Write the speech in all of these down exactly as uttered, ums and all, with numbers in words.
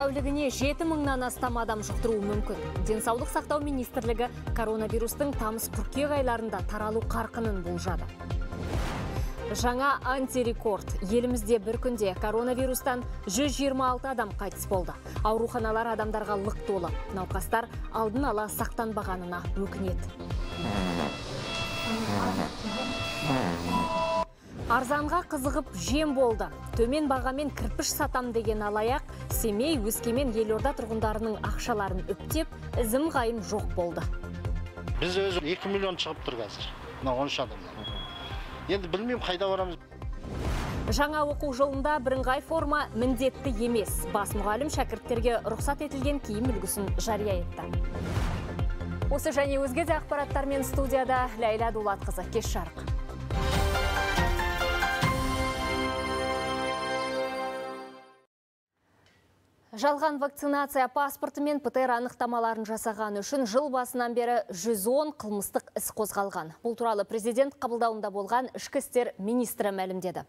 Тәулігіне жеті мыңнан астам адам жұқтыруы мүмкін. Денсаулық сақтау министрлігі коронавирустың тамыз-қыркүйек айларында таралу қарқынын болжады. Жаңа антирекорд. Елімізде бір күнде коронавирустан жүз жиырма алты адам қайтыс болды. Ауруханалар адамдарға лық толы. Науқастар алдын ала сақтанбағанына өкінеді. Арзанға қызығып жем болды. Төмен бағамен кірпіш сатам деген алаяқ Семей, Өскемен, Елорда тұрғындарының ақшаларын үптеп, ізім ғайым жоқ болды. Біз өзі екі миллион шығып тұр қазір. он үш адамнан. Енді білмеймін қайда барамыз. Жаңа оқу жылында бірыңғай форма міндетті емес. Бас мұғалім шәкірттерге рұқсат етілген киім үлгісін жария етті. Осы және өзге де ақпараттармен студияда Ләйла Дулатқызы. Кеш жарық. Жалған вакцинация паспорты мен ПТР анықтамаларын жасаған үшін жыл басынан бері жүз он қылмыстық іс қозғалған. Бұл туралы президент қабылдауында болған ішкі істер министрі мәлімдеді.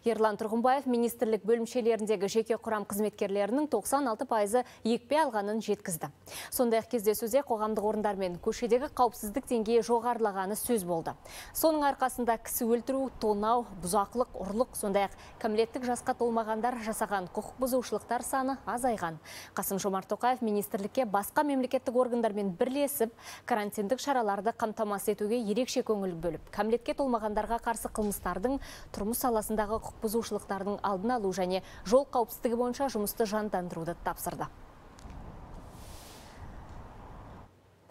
Ерлан Тұрғымбаев министрлік бөлімшелеріндегі жеке құрам қызметкерлерінің тоқсан алты пайызы екпе алғанын жеткізді. Сондай-ақ кездесуде қоғамдық орындар мен көшедегі қауіпсіздік деңгейі жоғарылағаны сөз болды. Соның арқасында кісі өлтіру, тонау, бұзақылық, ұрлық, сондай-ақ кәмелеттік жасқа толмағандар жасаған құқық бұзушылықтар саны азайған. Қасым-Жомарт Тоқаев министрлікке басқа мемлекеттік органдармен бірлесіп, карантиндік шараларды қамтамасыз етуге ерекше көңіл бөліп, кәмелетке толмағандарға қарсы қылмыстардың, тұрмыс саласындағы құқық бұзушылықтардың алдын алу және жол қауіпсіздігі бойынша жұмысты жандандыруды тапсырды.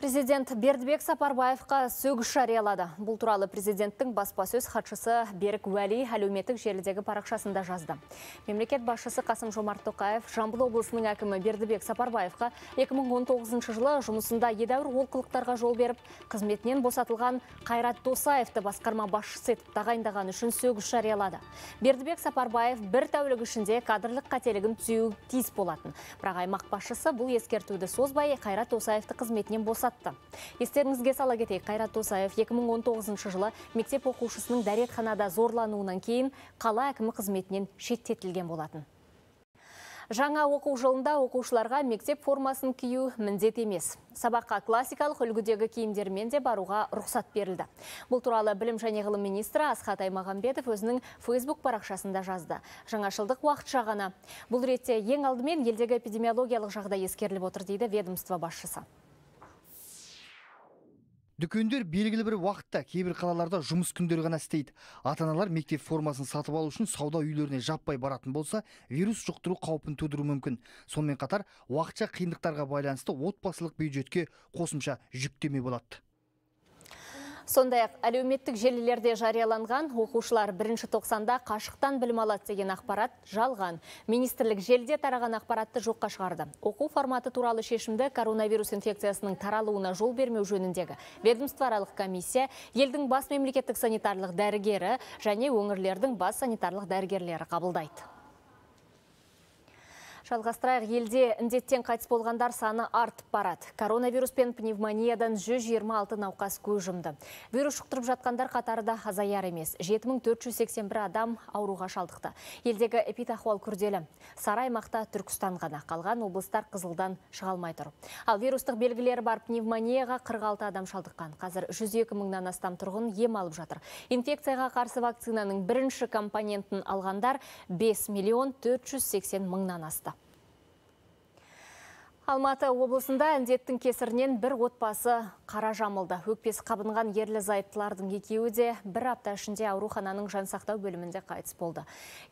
Президент Бердібек Сапарбаевқа сөгіс жариялады. Бұл туралы президенттің баспасөз хатшысы Берік Уәли әлеуметтік желідегі парақшасында жазды. Мемлекет басшысы Қасым-Жомарт Тоқаев Жамбыл облысының әкімі Бердібек Сапарбаевқа екі мың он тоғызыншы жылы жұмысында едәуір олқылықтарға жол беріп, қызметінен босатылған Қайрат Досаевты басқарма басшысы етіп тағайындаған үшін сөгіс жариялады. Бердібек Сапарбаев бір тәулік ішінде кадрлық қателігін түзеуі тиіс болатын. Бірақ аймақ басшысы бұл ескертуді созбай Қайрат Досаевты қызметінен босатты. Естеріңізге сала кетейік, Қайрат Досаев екі мың он тоғызыншы жылы мектеп оқушысының дәретханада зорлануынан кейін қала әкімі қызметінен шеттетілген болатын. Жаңа оқу жылында оқушыларға мектеп формасын кию міндет емес. Сабаққа классикалық үлгідегі киімдермен де баруға рұқсат берілді. Бұл туралы білім және ғылым министрі Асхат Аймағамбетов өзінің Facebook парақшасында жазды. Жаңашылдық уақытша ғана. Бұл ретте ең алдымен елдегі эпидемиологиялық жағдай ескеріліп отыр дейді ведомство басшысы. Дүкендер белгілі бір уақытта кейбір қалаларда жұмыс күндері ғана істейді. Ата-аналар мектеп формасын сатып алу үшін сауда үйлеріне жаппай баратын болса, вирус жұқтыру қаупін тудыру мүмкін. Сонымен қатар, уақытша қиындықтарға байланысты отбасылық бюджетке қосымша жүктеме болады. Сондай-ақ әлеуметтік желілерде жарияланған оқушылар бірінші тоқсанда қашықтан білім алады деген ақпарат жалған. Министрлік желіде тараған ақпаратты жоққа шығарды. Оқу форматы туралы шешімді коронавирус инфекциясының таралуына жол бермеу жөніндегі ведомствоаралық комиссия елдің бас мемлекеттік санитарлық дәрігері және өңірлердің бас санитарлық дәрігерлері қабылдайды. Жалғастырайық, елде індеттен қайтыс болғандар саны артып барады. Коронавирус пен пневмониядан жүз жиырма алты науқас көз жұмды. Вирус жұқтырып жатқандар қатары да азаяр емес. жеті мың төрт жүз сексен бір адам ауруға шалдықты. Елдегі эпидахуал күрделі. Сары аймақта Түркістан ғана, қалған облыстар қызылдан шыға алмай тұр. Ал вирустық белгілері бар пневмонияға қырық алты адам шалдыққан. Қазір жүз екі мыңнан астам тұрғын ем алып жатыр. Инфекцияға қарсы вакцинаның бірінші компонентін алғандар бес миллион төрт жүз сексен мыңнан асты. Алматы облысында індеттің кесірінен бір отбасы қара жамылды. Өкпесі қабынған ерлі зайыптылардың екеуі де бір апта ішінде аурухананың жансақтау бөлімінде қайтыс болды.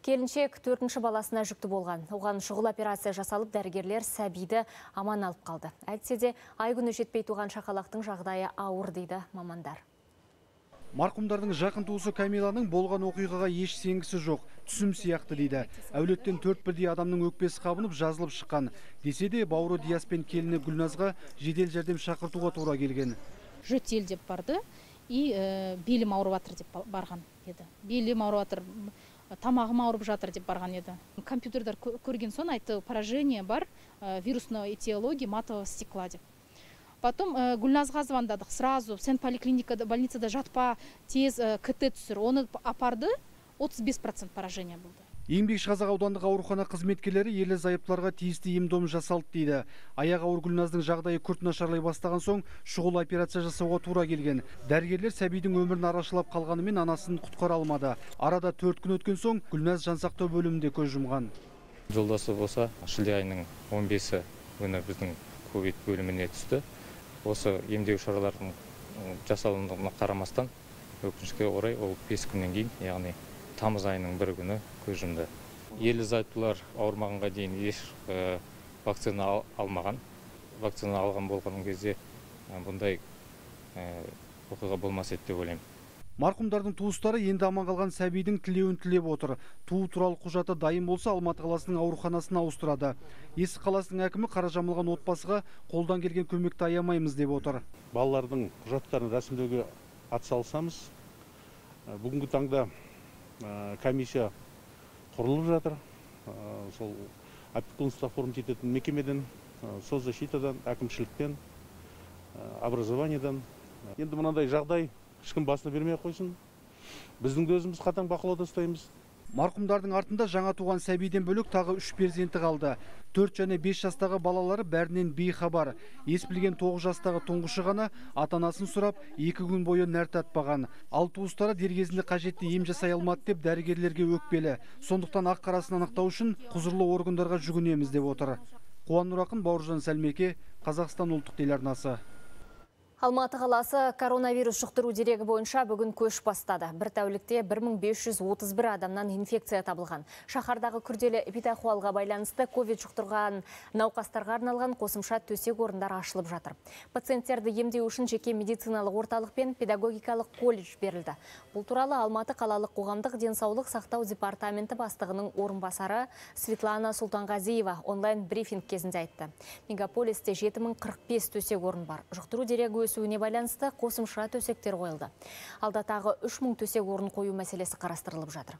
Келіншек төртінші баласына жүкті болған. Оған шұғыл операция жасалып, дәрігерлер сәбиді аман алып қалды. Әйтсе де ай күні жетпей туған шақалақтың жағдайы ауыр дейді мамандар. Марқұмдардың жақын туысы Камиланың болған оқиғаға еш сенгісі жоқ, түсім сияқты дейді. Әулеттен төрт бірдей адамның өкпесі қабынып жазылып шыққан. Десе де бауыры Диас пен келіні Гүлназға жедел жәрдем шақыртуға тура келген. Жөтел деп барды, и ә, белім ауырып жатыр деп барған еді. Белім ауырып жатыр, тамағым ауырып жатыр деп барған еді. Компьютердар көрген соң айтты, поражение бар, ә, вирусной этиологии матового стекла деп. Потом э, Гүлназға звондадық, сразу сен поликлиникада, больницада жатпа, тез э, КТ түсір. Оны апарды, отыз бес процент поражение болды. Еңбекшіқазақ аудандық аурухана қызметкерлері ерлі зайыптыларға тиісті ем-дом жасалды дейді. Аяқ ауыр Гүлназдың жағдайы күрт нашарлай бастаған соң шұғыл операция жасауға тура келген. Дәрігерлер сәбидің өмірін арашалап қалғанымен анасын құтқара алмады. Арада төрт күн өткен соң Гүлназ жансақтау бөлімінде көз жұмған. Жолдасы болса, шілде айының он бесі күні біздің ковид бөліміне түсті. Осы емдеу шараларының жасалуына қарамастан өкінішке орай ол бес күннен кейін, яғни тамыз айының бір күні көз жұмды. Ерлі зайыптылар ауырмағанға дейін еш вакцина алмаған. Вакцина алған болған кезде бұндай оқиға болмас еді деп ойлаймын. Марқұмдардың туыстары енді аман қалған сәбидің тілеуін тілеп отыр. Туу туралы құжаты дайын болса, Алматы қаласының ауруханасына ауыстырады. Есік қаласының әкімі қара жамылған отбасыға қолдан келген көмекті аямаймыз деп отыр. Балалардың құжаттарын рәсімдеуге атсалысамыз. Бүгінгі таңда комиссия құрылып жатыр. Сол опекунство оформить ететін мекемеден, соцзащитадан, әкімшіліктен, образованиядан. Енді мынандай жағдай ешкім басына бермей қойсын. Біздің де өзіміз қатаң бақылауда ұстаймыз. Марқұмдардың артында жаңа туған сәбиден бөлек тағы үш перзенті қалды. төрт және бес жастағы балалары бәрінен бейхабар. Ес білген тоғыз жастағы тұңғышы ғана ата-анасын сұрап, екі күн бойы нәр татпаған. Ал туыстары дер кезінде қажетті ем жасай алмады деп дәрігерлерге өкпелі. Сондықтан ақ қарасын анықтау үшін құзырлы органдарға жүгінеміз деп отыр. Қуан Нұрақын, Бауыржан Сәлмеке, Қазақстан ұлттық телеарнасы. Алматы қаласы коронавирус жұқтыру дерегі бойынша бүгін көш бастады. Бір тәулікте бір мың бес жүз отыз бір адамнан инфекция табылған. Шаһардағы күрделі эпидахуалға байланысты ковид жұқтырған науқастарға арналған қосымша төсек орындар ашылып жатыр. Пациенттерді емдеу үшін жеке медициналық орталық пен педагогикалық колледж берілді. Бұл туралы Алматы қалалық қоғамдық денсаулық сақтау департаменті бастығының орынбасары Светлана Султанғазиева онлайн брифинг кезінде айтты. Мегаполисте жеті мың қырық бес төсек орын бар. Жұқтыру дерегі өсуіне байланысты қосымша төсектер қойылды. Алда тағы үш мың төсек орын қою мәселесі қарастырылып жатыр.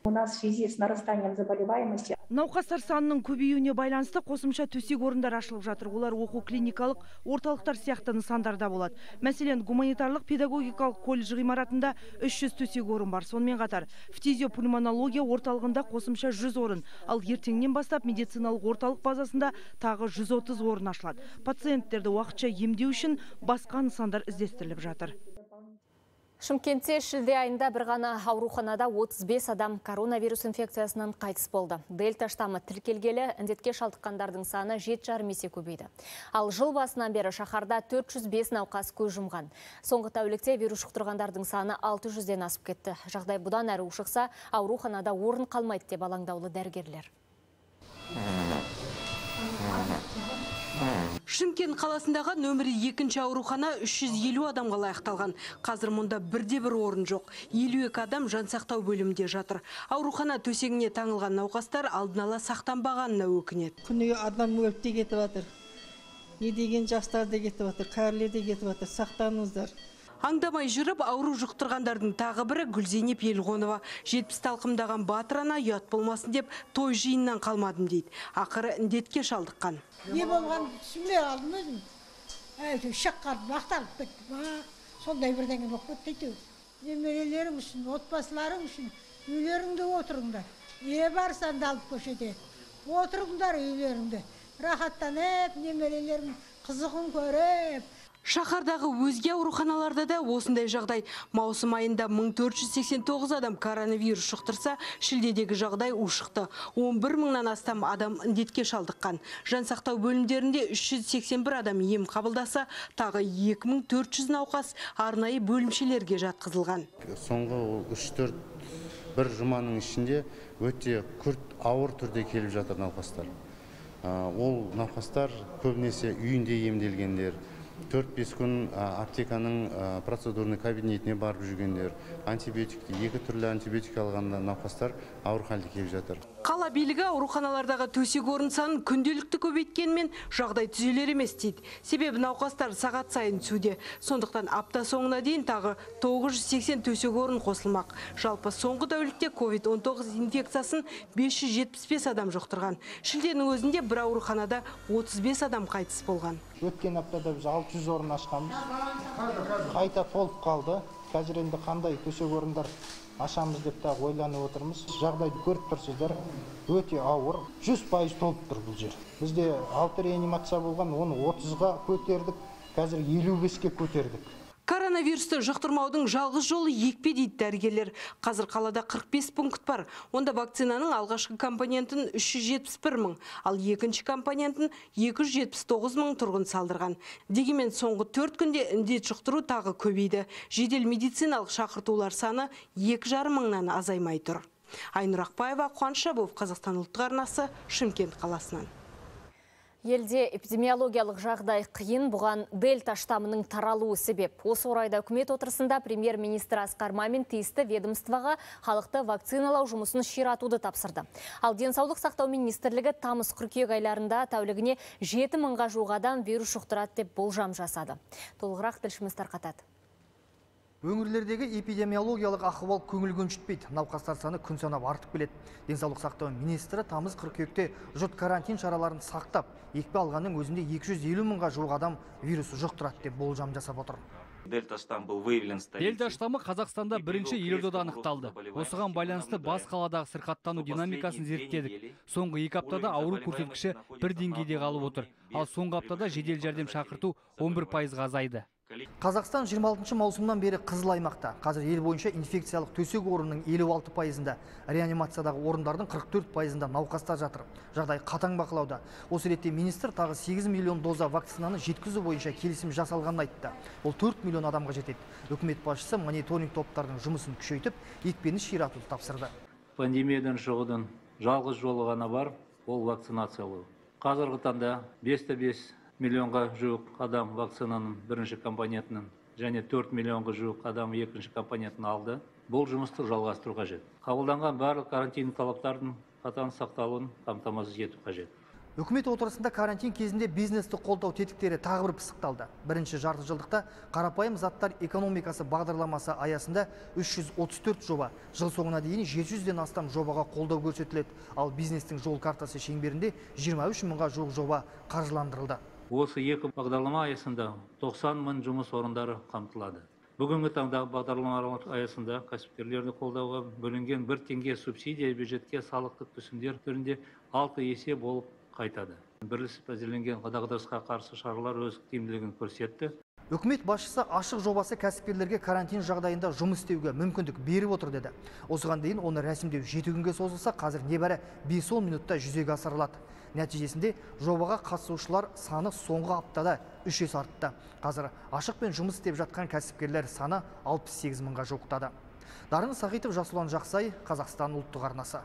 У нас в связи с нарастанием заболеваемости науқастар санының көбеюіне байланысты қосымша төсек орындар ашылып жатыр. Олар оқу клиникалық орталықтар сияқты нысандарда болады. Мәселен, гуманитарлық педагогикалық колледж ғимаратында үш жүз төсек орын бар. Сонымен қатар фтизиопульмонология орталығында қосымша жүз орын, ал ертеңнен бастап медициналық орталық базасында тағы жүз отыз орын ашылады. Пациенттерді уақытша емдеу үшін басқа нысандар іздестіріліп жатыр. Шымкентте шілде айында бір ғана ауруханада отыз бес адам коронавирус инфекциясынан қайтыс болды. Дельта штаммы тіркелгелі індетке шалдыққандардың саны жеті жарым есе көбейді. Ал жыл басынан бері шаһарда төрт жүз бес науқас көз жұмған. Соңғы тәулікте вирус жұқтырғандардың саны алты жүзден асып кетті. Жағдай бұдан әрі ушықса, ауруханада орын қалмайды деп алаңдаулы дәрігерлер. Шымкент қаласындағы нөмірі екінші аурухана үш жүз елу адамға лайықталған. Қазір мұнда бірде бір орын жоқ. елу екі адам жансақтау бөлімінде жатыр. Аурухана төсегіне таңылған науқастар алдын ала сақтанбағанына өкінеді. Күніге адам өліп те кетіп жатыр. Не деген жастар да кетіп жатыр, кәрілер де кетіп жатыр. Сақтаныңыздар. Аңдамай жүріп, ауру жұқтырғандардың тағы бірі Гүлзейнеп Елғонова. жетпіс талқымдаған батыр ана ұят болмасын деп той жиыннан қалмадым дейді. Ақыры індетке шалдыққан. Не болған түсінбей алдым өзім. Әйтеу шаққарып, мақталып кетті. Сондай бірдеңе болып кетті. Немерелерің үшін, отбасыларың үшін үйлеріңде отырыңдар. Не барсан да алып көшеде. Отырыңдар үйлеріңде. Рахаттанып, немерелерің қызығын көріп. Шаһардағы өзге ауруханаларда да осындай жағдай. Маусым айында мың төрт жүз сексен тоғыз адам коронавирус жұқтырса, шілдедегі жағдай ушықты. он бір мыңнан астам адам індетке шалдыққан. Жансақтау бөлімдерінде үш жүз сексен бір адам ем қабылдаса, тағы екі мың төрт жүз науқас арнайы бөлімшелерге жатқызылған. Соңғы үш төрт бір жұманың ішінде өте күрт ауыр түрде келіп жатыр науқастар. Ол науқастар көбінесе үйінде емделгендер, төрт бес күн аптеканың процедурный кабинетіне барып жүргендер, антибиотикті, екі түрлі антибиотик алған науқастар ауыр халде келіп жатыр. Қала билігі ауруханалардағы төсек орын санын күнделікті көбейткенмен жағдай түзелер емес дейді. Себебі науқастар сағат сайын түсуде. Сондықтан апта соңына дейін тағы тоғыз жүз сексен төсек орын қосылмақ. Жалпы соңғы тәулікте ковид он тоғыз инфекциясын бес жүз жетпіс бес адам жұқтырған. Шілденің өзінде бір ауруханада отыз бес адам қайтыс болған. Өткен аптада біз алты жүз орын ашқанбыз. Қайта толып қалды. Қазір енді қандай төсек орындар ашамыз деп та ойланып отырмыз. Жағдайды көріп тұрсыздар, өте ауыр. жүз пайыз толып тұр бұл жер. Бізде алты реанимация болған, оны отызға көтердік, қазір елу беске көтердік. Коронавирусты жұқтырмаудың жалғыз жолы екпе дейді дәрігерлер. Қазір қалада қырық бес пункт бар. Онда вакцинаның алғашқы компонентін үш жүз жетпіс бір мың, ал екінші компонентін екі жүз жетпіс тоғыз мың тұрғын салдырған. Дегенмен соңғы төрт күнде індет жұқтыру тағы көбейді. Жедел медициналық шақыртулар саны екі жарым мыңнан азаймай тұр. Айнұр Ақбаева, Қуаныш Жабов, Қазақстан ұлттық арнасы, Шымкент қаласынан. Елде эпидемиологиялық жағдай қиын, бұған дельта штамының таралуы себеп. Осы орайда үкімет отырысында премьер-министр Асқар Мамин тиісті ведомствоға халықты вакциналау жұмысын ширатуды тапсырды. Ал денсаулық сақтау министрлігі тамыз қыркүйек айларында тәулігіне жеті мыңға жуық адам вирус жұқтырады деп болжам жасады. Толығырақ тілшіміз тарқатады. Өңірлердегі эпидемиологиялық ахуал көңіл көншітпейді. Науқастар саны күн санап артып келеді. Денсаулық сақтау министрі тамыз қыркүйекте жұрт карантин шараларын сақтап, екпе алғанның өзінде екі жүз елу мыңға жуық адам вирусы жұқтырады деп болжам жасап отыр. Дельта штаммы Қазақстанда бірінші елордада анықталды. Осыған байланысты бас қаладағы сырқаттану динамикасын зерттедік. Соңғы екі аптада ауру көрсеткіші бір деңгейде қалып отыр. Ал соңғы аптада жедел жәрдем шақырту он бір пайызға азайды. Қазақстан жиырма алтыншы маусымнан бері қызыл аймақта. Қазір ел бойынша инфекциялық төсек орынның елу алты пайызында, реанимациядағы орындардың қырық төрт пайызында науқастар жатыр. Жағдай қатаң бақылауда. Осы ретте министр тағы сегіз миллион доза вакцинаны жеткізу бойынша келісім жасалғанын айтты. Ол төрт миллион адамға жетеді. Үкімет басшысы мониторинг топтардың жұмысын күшейтіп, екпені ширатуды тапсырды. Пандемиядан шығудың жалғыз жолы ғана бар, ол вакцинациялау. Қазіргі таңда бес те бес миллионға жуық адам вакцинаның бірінші компонентінің және төрт миллионға жуық адам екінші компонентін алды. Бұл жұмысты жалғастыру қажет. Қабылданған барлық карантин талаптардың қатаң сақталуын қамтамасыз ету қажет. Үкімет отырысында карантин кезінде бизнесті қолдау тетіктері тағы бір пысықталды. Бірінші жарты жылдықта қарапайым заттар экономикасы бағдарламасы аясында үш жүз отыз төрт жоба, жыл соңына дейін жеті жүзден астам жобаға қолдау көрсетіледі. Ал бизнестің жол картасы шеңберінде жиырма үш мыңға жуық жоба қаржыландырылды. Осы екі бағдарлама аясында тоқсан мың жұмыс орындары қамтылады. Бүгінгі таңда бағдарламалар аясында кәсіпкерлерді қолдауға бөлінген бір теңге субсидия бюджетке салықтық түсімдер түрінде алты есе болып қайтады. Бірлесіп әзірленген дағдарысқа қарсы шаралар өз тиімділігін көрсетті. Үкімет басшысы ашық жобасы кәсіпкерлерге карантин жағдайында жұмыс істеуге мүмкіндік беріп отыр деді. Осыған дейін оны рәсімдеу жеті күнге созылса, қазір небәрі бес он минутта жүзеге асырылады. Нәтижесінде жобаға қатысушылар саны соңғы аптада үш есе артты. Қазір ашықпен жұмыс істеп жатқан кәсіпкерлер саны алпыс сегіз мыңға жуықтады. Дарын Сағитов, Жасұлан Жақсай, Қазақстан ұлттық арнасы.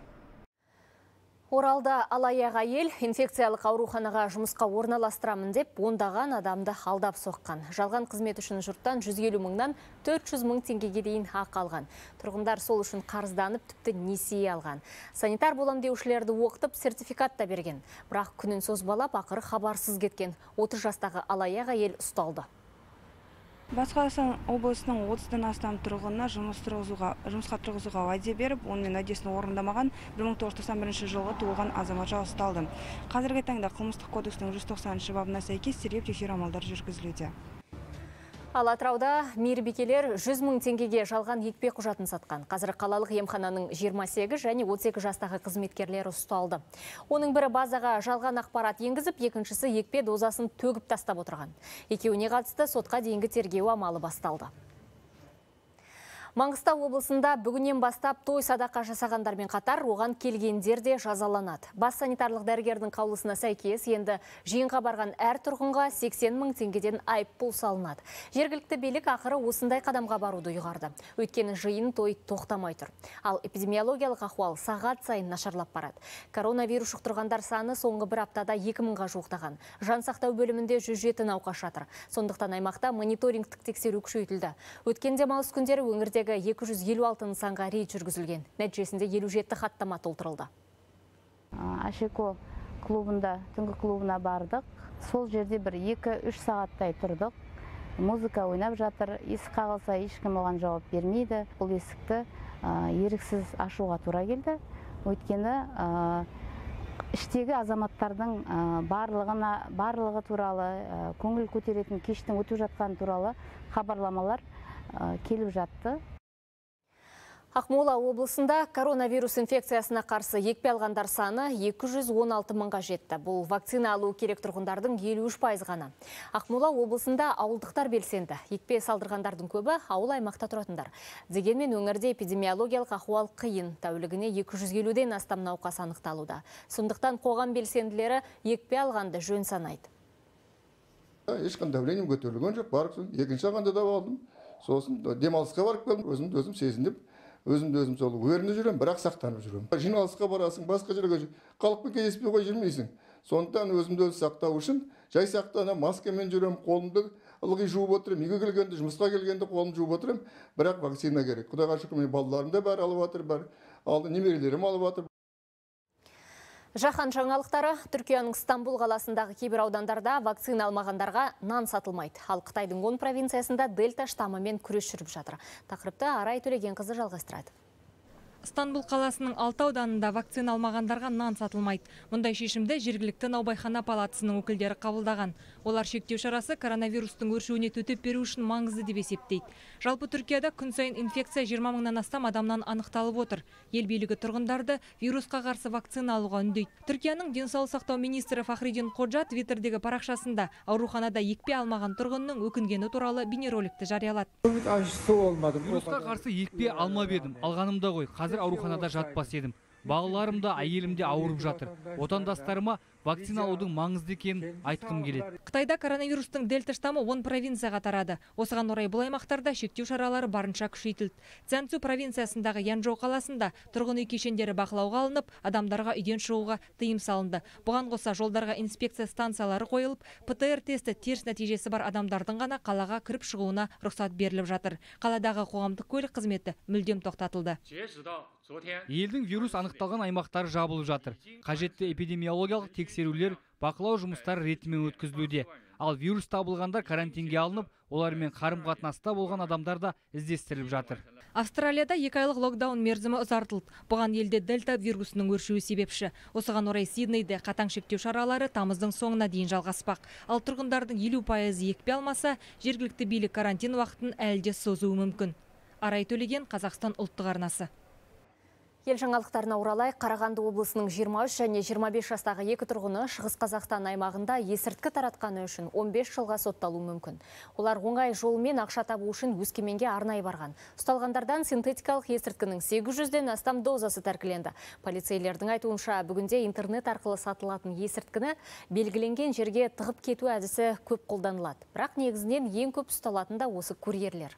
Оралда алаяқ әйел инфекциялық ауруханаға жұмысқа орналастырамын деп ондаған адамды алдап соққан. Жалған қызмет үшін жұрттан жүз елу мыңнан төрт жүз мың теңгеге дейін ақы алған. Тұрғындар сол үшін қарызданып, тіпті несие алған. Санитар болам деушілерді оқытып, сертификат та берген. Бірақ күнін созбалап, ақыры хабарсыз кеткен отыз жастағы алаяқ әйел ұсталды. Батыс Қазақстан облысының отыздан астам тұрғынына жұмыс тұрғызуға, жұмысқа тұрғызуға уәде беріп, онымен уәдесін орындамаған бір мың тоғыз жүз тоқсан бірінші жылғы туылған азаматша ұсталды. Қазіргі таңда қылмыстық кодекстің жүз тоқсаныншы бабына сәйкес тергеп тексеру амалдары жүргізілуде. Ал Атырауда мейірбикелер жүз мың теңгеге жалған екпе құжатын сатқан. Қазір қалалық емхананың жиырма сегіз және отыз екі жастағы қызметкерлері ұсталды. Оның бірі базаға жалған ақпарат енгізіп, екіншісі екпе дозасын төгіп тастап отырған. Екеуіне қатысты сотқа дейінгі тергеу амалы басталды. Маңғыстау облысында бүгіннен бастап той садақа жасағандармен қатар оған келгендер де жазаланады. Бас санитарлық дәрігердің қаулысына сәйкес енді жиынға барған әр тұрғынға сексен мың теңгеден айыппұл салынады. Жергілікті билік ақыры осындай қадамға баруды ұйғарды. Өйткені жиын той тоқтамай тұр. Ал эпидемиологиялық ахуал сағат сайын нашарлап барады. Коронавирус жұқтырғандар саны соңғы бір аптада екі мыңға жуықтаған. Жан сақтау бөлімінде жүз жеті науқас жатыр. Сондықтан аймақта мониторингтік тексеру күшейтілді. Өткен демалыс күндері өңірде екі жүз елу алты нысанға рейд жүргізілген. Нәтижесінде елу жеті хаттама толтырылды. Ашеко клубында, түнгі клубына бардық. Сол жерде бір екі үш сағаттай тұрдық. Музыка ойнап жатыр. Есік қағылса ешкім оған жауап бермейді. Бұл есікті еріксіз ашуға тура келді. Өйткені іштегі азаматтардың барлығына барлығы туралы көңіл көтеретін кештің өтіп жатқаны туралы хабарламалар келіп жатты. Ақмола облысында коронавирус инфекциясына қарсы екпе алғандар саны екі жүз он алты мыңға жетті. Бұл вакцина алу керек тұрғындардың елу үш пайызы ғана. Ақмола облысында ауылдықтар белсенді. Екпе салдырғандардың көбі ауыл аймақта тұратындар. Дегенмен өңірде эпидемиологиялық ахуал қиын. Тәулігіне екі жүз елуден астам науқас анықталуда. Сондықтан қоғам белсенділері екпе алғанды жөн санайды. Ешқандай давлением көтерілген жоқ, барып екінші ағанда да алдым. Сосын демалысқа барып келдім, өзімді өзім сезіндіп, өзімді өзім сол өрінде жүрем, бірақ сақтанып жүрем. Жиналысқа барасың, басқа жерге халықпен кездеспей қой жүрмейсің. Сондықтан өзімді өзім сақтау үшін жай сақтана маскамен жүрем, қолымды ылғи жуып отырам, үйге келгенде, жұмысқа келгенде қолымды жуып отырам, бірақ вакцина керек. Құдайға шүкір, мен балаларым да бәрі алып жатыр, бәрі алды, немерелерім алып жатыр. Жаһан жаңалықтары. Түркияның Стамбул қаласындағы кейбір аудандарда вакцина алмағандарға нан сатылмайды. Ал Қытайдың он провинциясында дельта штаммымен күрес жүріп жатыр. Тақырыпты Арай Төлегенқызы жалғастырады. Стамбул қаласының алты ауданында вакцина алмағандарға нан сатылмайды. Мұндай шешімді жергілікті наубайхана палатасының өкілдері қабылдаған. Олар шектеу шарасы коронавирустың өршуіне төтеп беру үшін маңызды деп есептейді. Жалпы Түркияда күн сайын инфекция жиырма мыңнан астам адамнан анықталып отыр. Ел билігі тұрғындарды вирусқа қарсы вакцина алуға үндейді. Түркияның денсаулық сақтау министрі Фахридин Коджа Твиттердегі парақшасында ауруханада екпе алмаған тұрғынның өкінгені туралы бейнероликті жариялады. Вирусқа қарсы екпе алмап едім, алғанымда ғой. Қазір ауруханада жатпас едім. Балаларым да, әйелім де ауырып жатыр. Отандастарыма вакцина алудың маңызды екенін айтқым келеді. Қытайда коронавирустың дельта штаммы он провинцияға тарады. Осыған орай бұл аймақтарда шектеу шаралары барынша күшейтілді. Цзянцю провинциясындағы Янчжоу қаласында тұрғын үй кешендері бақылауға алынып, адамдарға үйден шығуға тыйым салынды. Бұған қоса жолдарға инспекция станциялары қойылып, ПЦР тесті теріс нәтижесі бар адамдардың ғана қалаға кіріп шығуына рұқсат беріліп жатыр. Қаладағы қоғамдық көлік қызметі мүлдем тоқтатылды. Елдің вирус анықталған аймақтары жабылып жатыр. Қажетті эпидемиологиялық тексерулер, бақылау жұмыстары ретімен өткізілуде. Ал вирус табылғандар карантинге алынып, олармен қарым-қатынаста болған адамдар да іздестіріліп жатыр. Австралияда екі айлық локдаун мерзімі ұзартылды. Бұған елде дельта вирусының өршуі себепші. Осыған орай Сиднейде қатаң шектеу шаралары тамыздың соңына дейін жалғаспақ. Ал тұрғындардың елу пайызы екпе алмаса, жергілікті билік карантин уақытын әлде созуы мүмкін. Арай Төлеген, Қазақстан ұлттық арнасы. Ел жаңалықтарына оралай, Қарағанды облысының жиырма үш және жиырма бес жастағы екі тұрғыны Шығыс Қазақстан аймағында есірткі таратқаны үшін он бес жылға сотталуы мүмкін. Олар оңай жолмен ақша табу үшін Өскеменге арнайы барған. Ұсталғандардан синтетикалық есірткінің сегіз жүзден астам дозасы тәркіленді. Полицейлердің айтуынша, бүгінде интернет арқылы сатылатын есірткіні белгіленген жерге тығып кету әдісі көп қолданылады. Бірақ негізінен ең көп ұсталатын да осы курьерлер.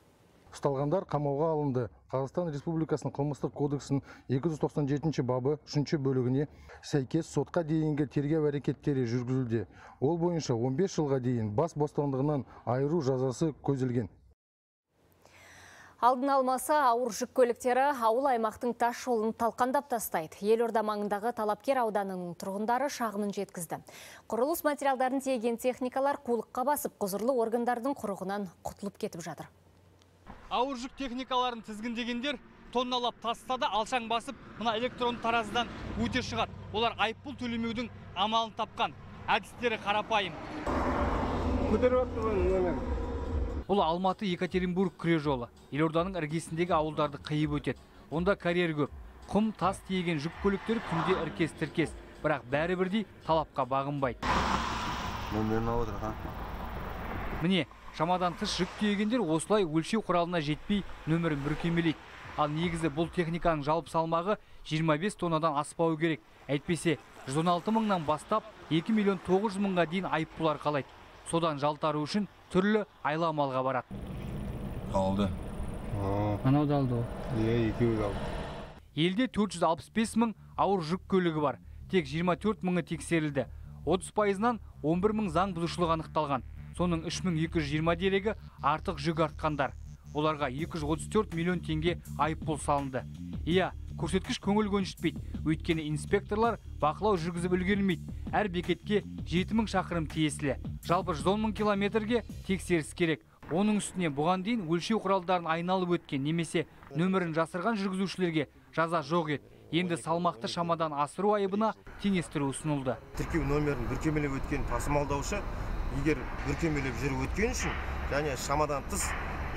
Ұсталғандар қамауға алынды. Қазақстан Республикасының қылмыстық кодексінің екі жүз тоқсан жетінші бабы үшінші бөлігіне сәйкес сотқа дейінгі тергеу әрекеттері жүргізілді. Ол бойынша он бес жылға дейін бас бостандығынан айыру жазасы көзделген. Алдын алмаса, ауыр жүк көліктері ауыл аймақтың тас жолын талқандап тастайды. Елорда маңындағы Талапкер ауданының тұрғындары шағымын жеткізді. Құрылыс материалдарын тиеген техникалар қулыққа басып, құзырлы органдардың құрығынан құтылып кетіп жатыр. Ауыр жүк техникаларын тізгіндегендер тонналап тастады, алшаң басып, мына электронды таразыдан өте шығады. Олар айыппұл төлемеудің амалын тапқан. Әдістері қарапайым. Бұл Алматы Екатеринбург күре жолы. Елорданың іргесіндегі ауылдарды қиып өтеді. Онда карьер көп. Құм, тас тиеген жүк көліктері күнде іркес-тіркес, бірақ бәрі бірдей талапқа бағынбайды. Міне, шамадан тыс жүк тиегендер осылай өлшеу құралына жетпей нөмірін бүркемелейді. Ал негізі бұл техниканың жалпы салмағы жиырма бес тоннадан аспауы керек. Әйтпесе жүз он алты мыңнан бастап екі миллион тоғыз жүз мыңға дейін айыппұл арқалайды. Содан жалтару үшін түрлі айла-малға барады. Алды. Анау да алды. Е, екеуі алды. Елде төрт жүз алпыс бес мың ауыр жүк көлігі бар. Тек жиырма төрт мыңы тексерілді. отыз пайызынан он бір мың заң бұзушылық анықталған. Соның үш мың екі жүз жиырма дерегі артық жүк артқандар. Оларға екі жүз отыз төрт миллион теңге айыппұл салынды. Иә, көрсеткіш көңіл көншітпейді. Өйткені инспекторлар бақылау жүргізіп үлгермейді. Әр бекетке жеті мың шақырым тиесілі. Жалпы жүз он мың километрге тексеріс керек. Оның үстіне бұған дейін өлшеу құралдарын айналып өткен немесе нөмірін жасырған жүргізушілерге жаза жоқ еді. Енді салмақты шамадан асыру айыбына теңестіру ұсынылды. Тіркеу номерін бүркемелеп өткен тасымалдаушы егер бүркемелеп жүріп өткен үшін және шамадан тыс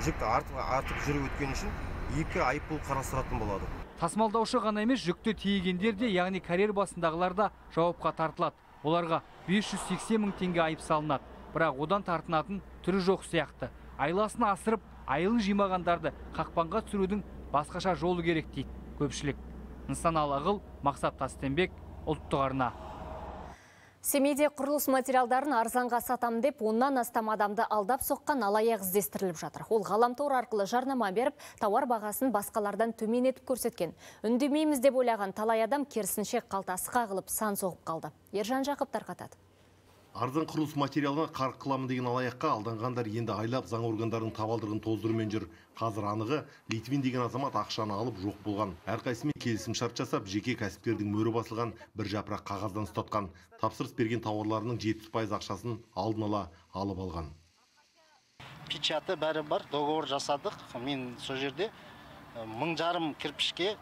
жүкті артып жүріп өткен үшін екі айыппұл қарастыратын болады. Тасымалдаушы ғана емес, жүкті тиегендер де, яғни карьер басындағылар да жауапқа тартылады. Оларға бес жүз сексен мың теңге айып салынады. Бірақ одан тартынатын түрі жоқ сияқты. Айласын асырып, айылын жимағандарды қақпанға түсірудің басқаша жолы керек дейді көпшілік. Нысаналы Ағыл, Мақсат Тастенбек, Ұлттық арна. Семейде құрылыс материалдарын арзанға сатам деп, оннан астам адамды алдап соққан алаяқ іздестіріліп жатыр. Ол ғаламтор арқылы жарнама беріп, тауар бағасын басқалардан төмен етіп көрсеткен. Үндемейміз деп ойлаған талай адам керісінше қалтасы қағылып сан соғып қалды. Ержан Жақып тарқатады. Арзан құрылыс материалына қарық қыламын деген алаяққа алданғандар енді айлап заң органдарының табалдырығын тоздырумен жүр. Қазір анығы Литвин деген азамат ақшаны алып жоқ болған. Әрқайсымен келісім шарт жасап, жеке кәсіпкердің мөрі басылған бір жапырақ қағаздан ұстатқан. Тапсырыс берген тауарларының жетпіс пайыз ақшасын алдын ала алып алған. Печаты бәрі бар, договор жасадық. Мен сол жерде мың жарым кірпішке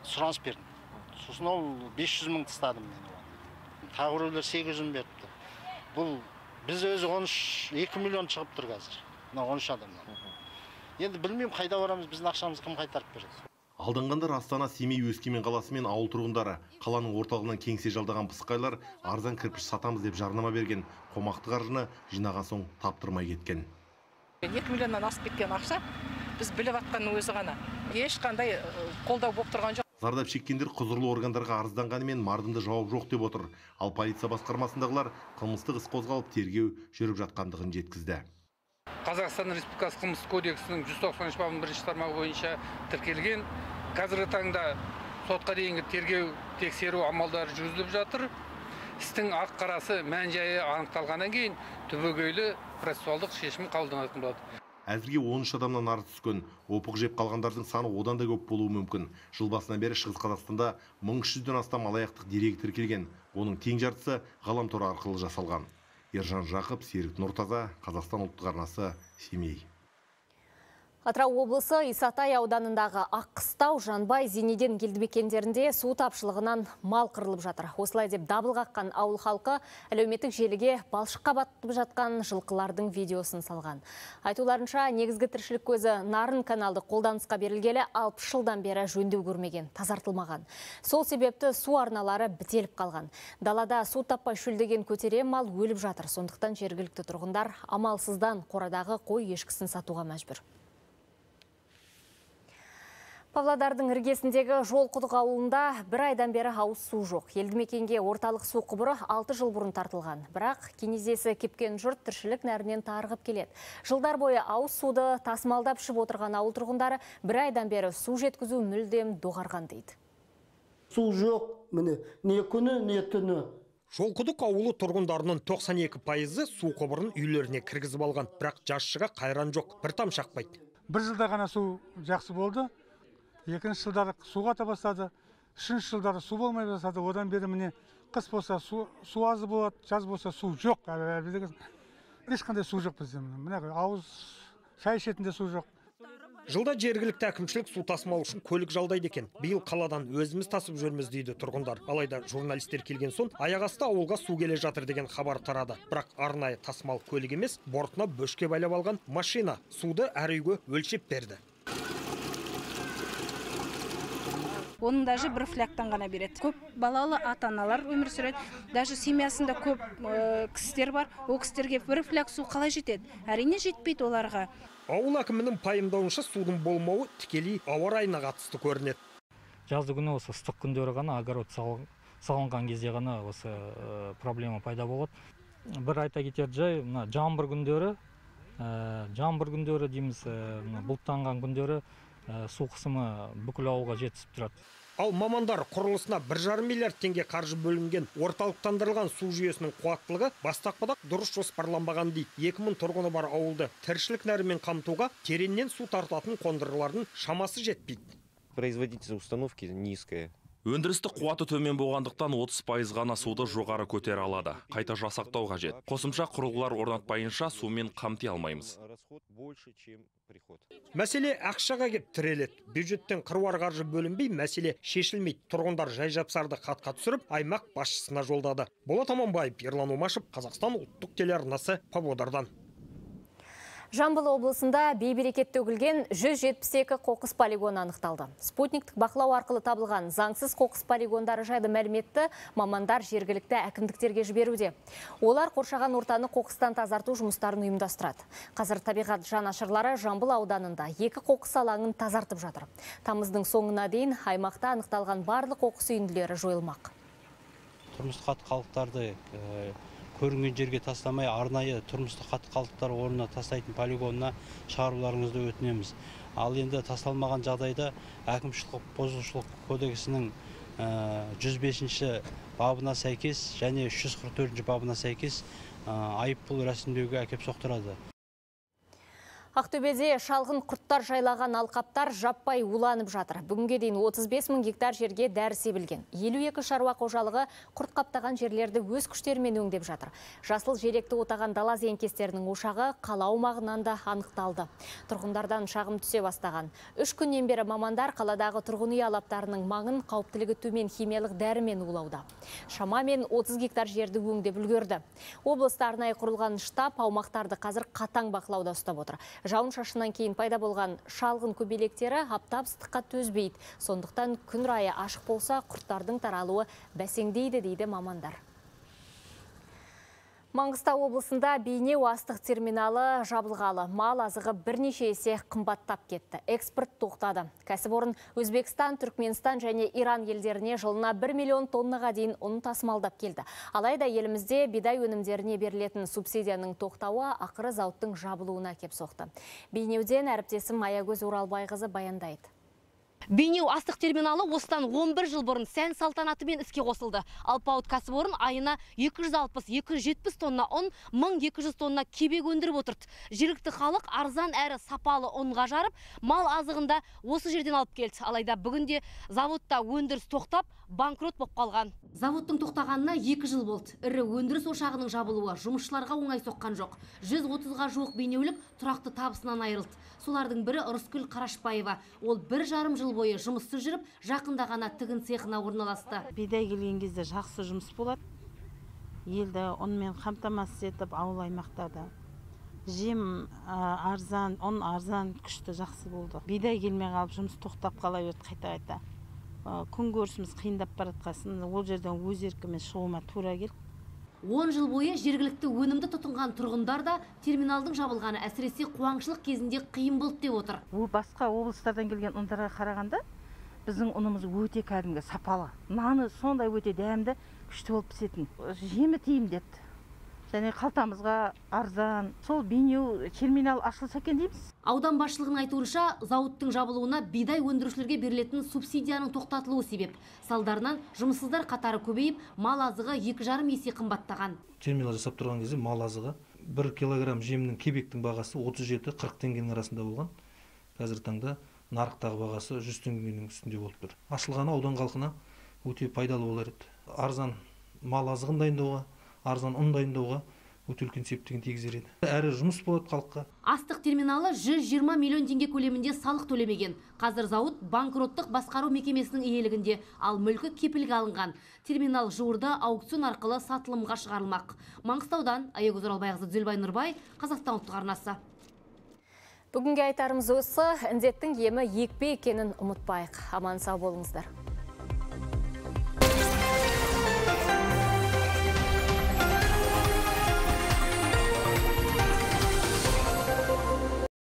сұраныс бердім. Сосын ол бес жүз мың тастадым мен. Тағырулар сегіз жүз мың беріпті. Бұл біз өзі он үш екі миллион шығып тұр қазір. он үш адамнан. Енді білмеймін қайда барамыз, біздің ақшамызды кім қайтарып береді. Алданғандар Астана, Семей, Өскемен қаласы мен ауыл тұрғындары. Қаланың орталығынан кеңсе жалдаған пысықайлар арзан кірпіш сатамыз деп жарнама берген. Қомақты қаржыны жинаған соң таптырмай кеткен. екі миллионнан асып кеткен ақша біз біліп атқанның өзі ғана. Ешқандай қолдау болып тұрған жоқ. Зардап шеккендер құзырлы органдарға арызданғанымен мардымды жауап жоқ деп отыр. Ал полиция басқармасындағылар қылмыстық іс қозғалып тергеу жүріп жатқандығын жеткізді. Қазақстан Республикасы қылмыстық кодексінің жүз тоқсан үш бабының бірінші тармағы бойынша тіркелген. Қазіргі таңда сотқа дейінгі тергеу тексеру амалдары жүргізіліп жатыр. Істің ақ қарасы мән жайы анықталғаннан кейін түбегейлі процессуалдық шешім қабылданатын болады. Әзірге он үш адамнан арыз түскен. Опық жеп қалғандардың саны одан да көп болуы мүмкін. Жыл басынан бері Шығыс Қазақстанда мың үш жүзден астам алаяқтық дерегі тіркелген. Оның тең жартысы ғаламтор арқылы жасалған. Ержан Жақып, Серік Нұртаза, Қазақстан ұлттық арнасы, Семей. Атырау облысы Исатай ауданындағы Аққыстау, Жанбай, Зенеден елді мекендерінде су тапшылығынан мал қырылып жатыр. Осылай деп дабыл қаққан ауыл халқы әлеуметтік желіге балшыққа батып жатқан жылқылардың видеосын салған. Айтуларынша, негізгі тіршілік көзі Нарын каналды қолданысқа берілгелі алпыс жылдан бері жөндеу көрмеген, тазартылмаған. Сол себепті су арналары бітеліп қалған. Далада су таппай шөлдеген көтере мал өліп жатыр. Сондықтан жергілікті тұрғындар амалсыздан қорадағы қой ешкісін сатуға мәжбүр. Павлодардың іргесіндегі Жолқұдық ауылында бір айдан бері ауыз су жоқ. Елді мекенге орталық су құбыры алты жыл бұрын тартылған. Бірақ кенезесі кепкен жұрт тіршілік нәрінен тарығып келеді. Жылдар бойы ауыз суды тасымалдап ішіп отырған ауыл тұрғындары бір айдан бері су жеткізу мүлдем доғарған дейді. Су жоқ, міне, не күні, не түні. Жолқұдық ауылы тұрғындарының тоқсан екі пайызы су құбырын үйлеріне кіргізіп алған. Бірақ жасшыға қайран жоқ, бір там шақпайды. Бір жылда ғана су жақсы болды. Екінші жылдары суға та бастады, үшінші жылдары су болмай бастады. Одан бері міне қыс болса су, су азы болады, жаз болса су жоқ. Ешқандай су жоқ бізде. Міне ауыз шай ішетінде су жоқ. Жылда жергілікті әкімшілік су тасымал үшін көлік жалдайды екен. Биыл қаладан өзіміз тасып жүрміз дейді тұрғындар. Алайда журналистер келген соң аяқасты ауылға су келе жатыр деген хабар тарады. Бірақ арнайы тасымал көлік емес, бортына бөшке байлап алған машина суды әр үйге өлшеп берді. Оның даже бір фляктан ғана береді. Көп балалы ата-аналар өмір сүреді. Даже семьясында көп кісілер бар. Ол кісілерге бір фляк су қалай жетеді? Әрине жетпейді оларға. Ауыл әкімінің пайымдауынша судың болмауы тікелей ауа райына қатысты көрінеді. Жазды күні осы ыстық күндері ғана огород салынған кезде ғана осы проблема пайда болады. Бір айта кетер жай, жаңбыр күндері, жаңбыр күндері дейміз, бұлттанған күндері су қысымы бүкіл ауылға жетісіп тұрады. Ал мамандар құрылысына бір жарым миллиард теңге қаржы бөлінген орталықтандырылған су жүйесінің қуаттылығы бастапқыда дұрыс жоспарланбаған дейді. екі мың тұрғыны бар ауылды тіршілік нәрімен қамтуға тереңнен су тартатын қондырғылардың шамасы жетпейді. Производительность установки низкая. Өндірістік қуаты төмен болғандықтан отыз пайыз ғана суды жоғары көтере алады. Қайта жасақтау қажет. Қосымша құрылғылар орнатпайынша сумен қамти алмаймыз. Мәселе ақшаға кеп тіреледі. Бюджеттен қыруар қаржы бөлінбей, мәселе шешілмейді. Тұрғындар жай-жапсарды қатқа түсіріп, аймақ басшысына жолдады. Болат Аманбаев, Ерлан Омашев, Қазақстан ұлттық телеарнасы, Павлодардан. Жамбыл облысында бейберекет төгілген жүз жетпіс екі қоқыс полигоны анықталды. Спутниктік бақылау арқылы табылған заңсыз қоқыс полигондары жайлы мәліметті мамандар жергілікті әкімдіктерге жіберуде. Олар қоршаған ортаны қоқыстан тазарту жұмыстарын ұйымдастырады. Қазір табиғат жанашырлары Жамбыл ауданында екі қоқыс алаңын тазартып жатыр. Тамыздың соңына дейін аймақта анықталған барлық қоқыс үйінділері жойылмақ. Тұрмыстық қатты қалдықтарды көрінген жерге тастамай, арнайы тұрмыстық қатты қалдықтар орнына тастайтын полигонына шығаруларыңызды өтінеміз. Ал енді тасталмаған жағдайда әкімшілік бұзушылық кодексінің жүз бесінші бабына сәйкес және үш жүз қырық төртінші бабына сәйкес айыппұл рәсімдеуге әкеп соқтырады. Ақтөбеде шалғын құрттар жайлаған алқаптар жаппай уланып жатыр. Бүгінге дейін отыз бес мың гектар жерге дәрі себілген. елу екі шаруа қожалығы құрт қаптаған жерлерді өз күштерімен өңдеп жатыр. Жасыл желекті отаған дала зиянкестерінің ошағы қала аумағынан да анықталды. Тұрғындардан шағым түсе бастаған. Үш күннен бері мамандар қаладағы тұрғын үй алаптарының маңын қауіптілігі төмен химиялық дәрімен улауда. Шамамен отыз гектар жерді өңдеп үлгерді. Облыста арнайы құрылған штаб аумақтарды қазір қатаң бақылауда ұстап отыр. Жауын шашыннан кейін пайда болған шалғын көбелектері аптап ыстыққа төзбейді. Сондықтан күн райы ашық болса, құрттардың таралуы бәсеңдейді дейді мамандар. Маңғыстау облысында Бейнеу астық терминалы жабылғалы. Мал азығы бірнеше есе қымбаттап кетті. Экспорт тоқтады. Кәсіпорын Өзбекстан, Түркменстан және Иран елдеріне жылына бір миллион тоннаға дейін ұн тасымалдап келді. Алайда елімізде бидай өнімдеріне берілетін субсидияның тоқтауы ақыры зауыттың жабылуына кеп соқты. Бейнеуден әріптесім Аягөз Оралбайқызы баяндайды. Бейнеу астық терминалы осыдан он бір жыл бұрын сән салтанатымен іске қосылды. Алпауыт кәсіпорын айына екі жүз алпыс - екі жүз жетпіс тонна ұн, мың екі жүз тонна кебек өндіріп отырды. Жергілікті халық арзан әрі сапалы ұнға жарып, мал азығында осы жерден алып келді. Алайда бүгінде заводта өндіріс тоқтап, банкрот болып қалған. Заводтың тоқтағанына екі жыл болды. Ірі өндіріс ошағының жабылуы жұмысшыларға оңай соққан жоқ. жүз отызға жуық бейнеулік тұрақты табысынан айырылды. Солардың бірі Ырыскүл Қарашбаева. Ол бір жарым жыл бойы жұмыссыз жүріп, жақында ғана тігін цехына орналасты. Бидай келген кезде жақсы жұмыс болады. Елді ұнмен қамтамасыз етіп, ауыл аймақтарда. Жем арзан, ұн арзан, күшті жақсы болды. Бидай келмей қалып, жұмыс тоқтап қала берді қайта-қайта. Күн көрісіміз қиындап баратқасын, ол жерден өз еркімен шығуыма тура келді. он жыл бойы жергілікті өнімді тұтынған тұрғындар да терминалдың жабылғаны әсіресе қуаңшылық кезінде қиын болды деп отыр. Ол басқа облыстардан келген ұндарға қарағанда біздің ұнымыз өте кәдімгі сапалы. Наны сондай өте дәмді, күшті болып пісетін. Жемі тиімді. Және қалтамызға арзан. Сол Бейнеу терминал ашылса екен дейміз. Аудан басшылығының айтуынша, зауыттың жабылуына бидай өндірушілерге берілетін субсидияның тоқтатылуы себеп. Салдарынан жұмыссыздар қатары көбейіп, мал азығы екі жарым есе қымбаттаған. Терминал жасап тұрған кезде мал азығы бір килограмм жемнің кебектің бағасы отыз жеті - қырық теңгенің арасында болған. Қазір таңда нарықтағы бағасы жүз теңгенің үстінде болып тұр. Ашылғаны аудан халқына өте пайдалы болар еді. Арзан мал азығын дайындауға, арзан ұн дайындауға өте үлкен септігін тигізер еді. Әрі жұмыс болады халыққа. Астық терминалы жүз жиырма миллион теңге көлемінде салық төлемеген. Қазір зауыт банкроттық басқару мекемесінің иелігінде, ал мүлкі кепілге алынған. Терминал жуырда аукцион арқылы сатылымға шығарылмақ. Маңғыстаудан Аягөз Оралбайқызы, Дүлбай Нұрбай, Қазақстан ұлттық арнасы. Бүгінге айтарымыз осы, індеттің емі екпе екенін ұмытпайық. Аман сау болыңыздар.